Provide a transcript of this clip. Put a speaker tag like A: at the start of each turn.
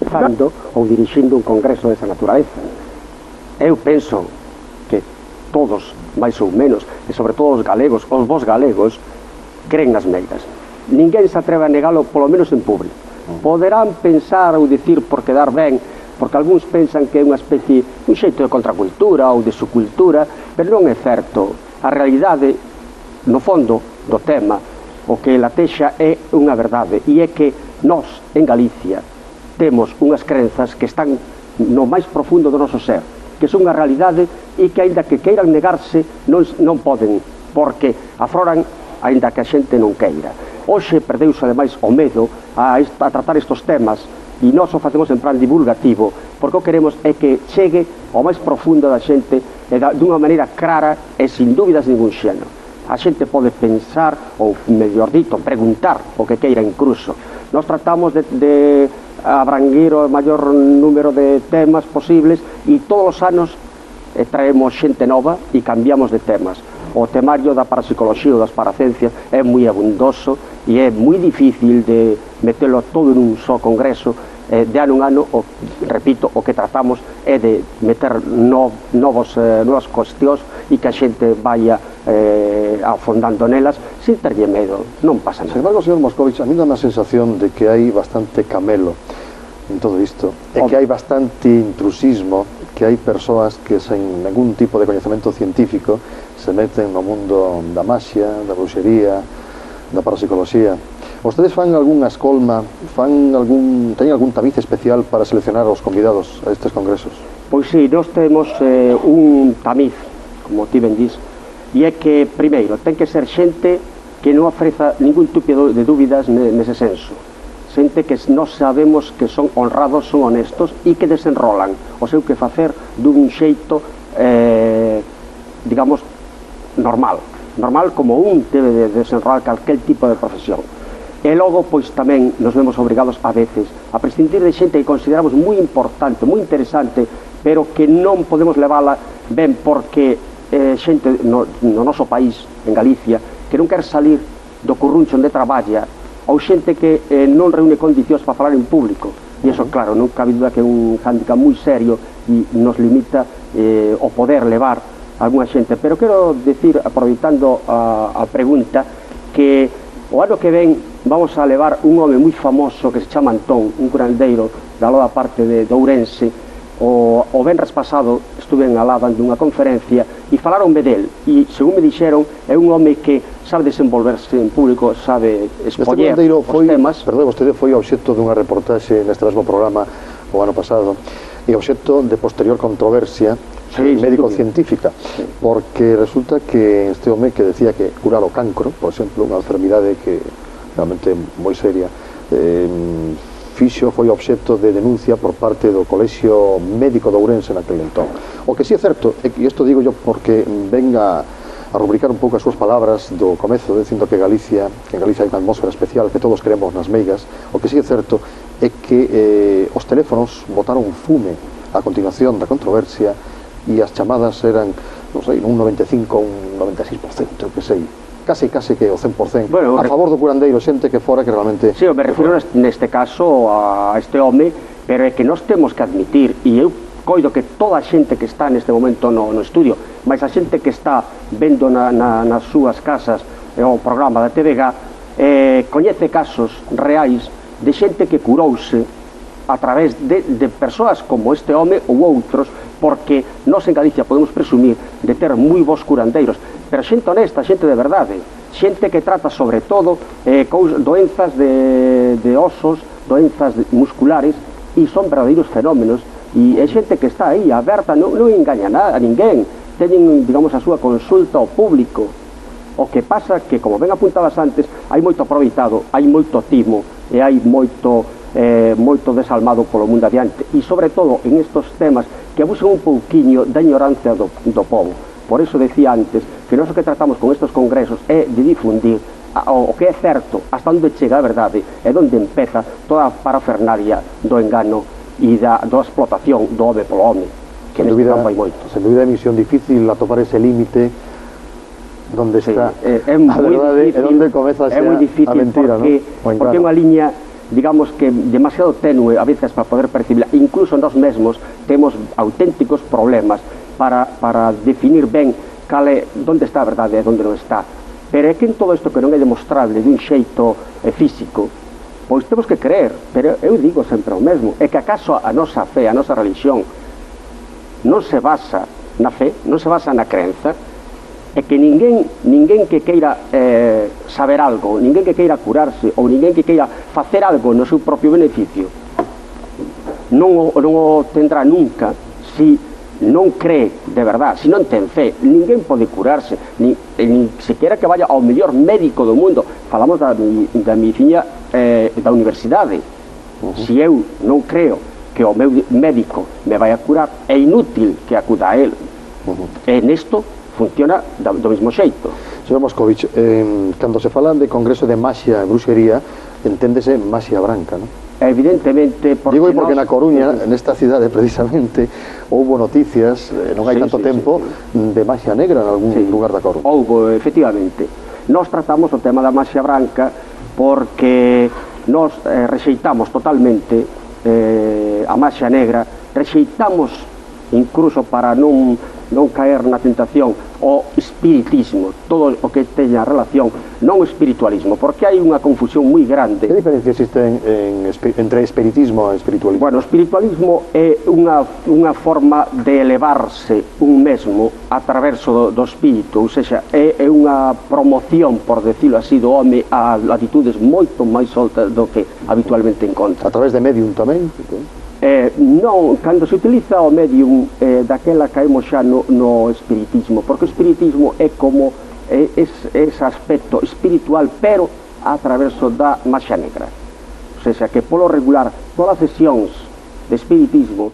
A: fando ou dirixindo un congreso desa naturaleza. Eu penso que todos, máis ou menos, e sobre todo os galegos, os vos galegos, creen nas meigas. Ninguén se atreve a negalo, polo menos en público. Poderán pensar ou dicir por quedar ben, porque algúns pensan que é unha especie, un xeito de contracultura ou de subcultura, pero non é certo. A realidade, no fondo do tema, o que latexa é unha verdade, e é que nós, en Galicia, temos unhas crenzas que están no máis profundo do noso ser, que son unha realidade e que, aínda que queiran negarse, non poden, porque afloran aínda que a xente non queira. Hoxe perdeuse, ademais, o medo a tratar estes temas, e nós o facemos en plan divulgativo, porque o queremos é que chegue ao máis profundo da xente dunha maneira clara e sin dúbidas ningún xeno. A xente pode pensar, ou mellor dito, preguntar o que queira incluso. Nós tratamos de abranguir o maior número de temas posibles e todos os anos traemos xente nova e cambiamos de temas. O temario da parapsicoloxía ou das paraciencias é moi abundoso e é moi difícil de metelo todo en un só congreso. De ano en ano, repito, o que tratamos é de meter novas cuestións e que a xente vaya afondando nelas sin terlle medo, non pasa nada.
B: Sin embargo, señor Moscovich, a mí dá unha sensación de que hai bastante camelo en todo isto, e que hai bastante intrusismo, que hai persoas que sen ningún tipo de coñecemento científico se meten no mundo da maxia, da bruxería, da parapsicoloxía. Vostedes fan algunha escolma, teñen algún tamiz especial para seleccionar os convidados a estes congresos?
A: Pois sí, nós temos un tamiz, como ti ben dís, e é que, primeiro, ten que ser xente que non ofreza ningún tipo de dúbidas nese senso. Xente que nós sabemos que son honrados, son honestos e que desenrolan o seu que facer dun xeito, digamos, normal como un debe de desenrolar calquel tipo de profesión. E logo, pois tamén nos vemos obrigados a veces a prescindir de xente que consideramos moi importante, moi interesante, pero que non podemos levala ben porque xente no noso país, en Galicia, que non quer salir do curruncho onde traballa, ou xente que non reúne condicións para falar en público. E iso, claro, non cabe duda que é un hándicap moi serio e nos limita o poder levar algunha xente. Pero quero decir, aproveitando a pregunta, que o ano que ven vamos a levar un home moi famoso que se chama Antón, un curandeiro da loda parte de Ourense. O venres pasado estuve alá dando unha conferencia e falaronme del, e según me dixeron é un home que sabe desenvolverse en público, sabe expoñer os temas.
B: Perdón, vostede foi obxecto dunha reportaxe neste mesmo programa o ano pasado, e obxecto de posterior controversia médico-científica, porque resulta que este home que decía que curar o cancro, por exemplo, unha enfermidade que realmente moi seria, foi obxecto de denuncia por parte do Colexio Médico de Ourense naquele entón. O que sí é certo, e isto digo yo porque venga a rubricar un pouco as súas palabras do comezo, dicindo que en Galicia hai unha atmósfera especial, que todos creemos nas meigas. O que sí é certo é que os teléfonos botaron fume a continuación da controversia e as chamadas eran, non sei, un 95, un 96%, que sei, case que o 100%, bueno, a favor do curandeiro, xente que fora que realmente...
A: Sí, eu me refiro neste caso a este home, pero é que nós temos que admitir, e eu coido que toda a xente que está neste momento no estudio, mas a xente que está vendo nas súas casas o programa da TVG, coñece casos reais de xente que curouse a través de persoas como este home ou outros, porque nós en Galicia podemos presumir de ter moi bons curandeiros, pero xente honesta, xente de verdade, xente que trata sobre todo doenzas de osos, doenzas musculares, e son verdadeiros fenómenos, e é xente que está aí aberta, non engaña a ninguén, teñen, digamos, a súa consulta ao público. O que pasa que, como ben apuntabas antes, hai moito aproveitado, hai moito timo, e hai moito desalmado polo mundo adiante, e sobre todo en estos temas que abusan un pouquiño da ignorancia do povo. Por eso decía antes que nós o que tratamos con estes congresos é de difundir o que é certo, hasta onde chega a verdade, e onde empeza toda a parafernalia do engano e da explotación do home polo home, que neste campo hai moito.
B: Sen dúbida é misión difícil atopar ese límite onde está a verdade e onde comeza a mentira,
A: porque é unha liña digamos que demasiado tenue a veces para poder percibirla. Incluso nós mesmos temos auténticos problemas para definir ben onde está a verdade e onde non está. Pero é que en todo isto que non é demostrable dun xeito físico, pois temos que creer. Pero eu digo sempre o mesmo, é que acaso a nosa fe, a nosa religión non se basa na fe, non se basa na crenza, é que ninguén que queira saber algo, ninguén que queira curarse ou ninguén que queira facer algo no seu propio beneficio non o tendrá nunca si non cree de verdad, si non ten fe. Ninguén pode curarse, ni sequera que vaya ao mellor médico do mundo. Falamos da medicina da universidade. Se eu non creo que o meu médico me vai a curar, é inútil que acuda a él. E nesto funciona do mesmo xeito.
B: Señor Moscovich, cando se falan de congreso de maxia e bruxería, enténdese maxia branca, non?
A: Evidentemente,
B: porque na Coruña, nesta cidade precisamente, houbo noticias, non hai tanto tempo, de maxia negra en algún lugar da Coruña.
A: Houbo, efectivamente. Nós tratamos o tema da maxia branca porque nós rexeitamos totalmente a maxia negra, rexeitamos incluso para non caer na tentación o espiritismo, todo o que teña relación, non o espiritualismo, porque hai unha confusión moi grande.
B: Que diferencia existe entre espiritismo e espiritualismo?
A: Bueno, o espiritualismo é unha forma de elevarse un mesmo a través do espírito, ou seja, é unha promoción, por decirlo así, do home a latitudes moito máis altas do que habitualmente encontra.
B: A través de medium tamén?
A: Non, cando se utiliza o medium daquela caemos xa no espiritismo, porque o espiritismo é como ese aspecto espiritual, pero a través da maxia negra. O sea, que polo regular todas as sesións de espiritismo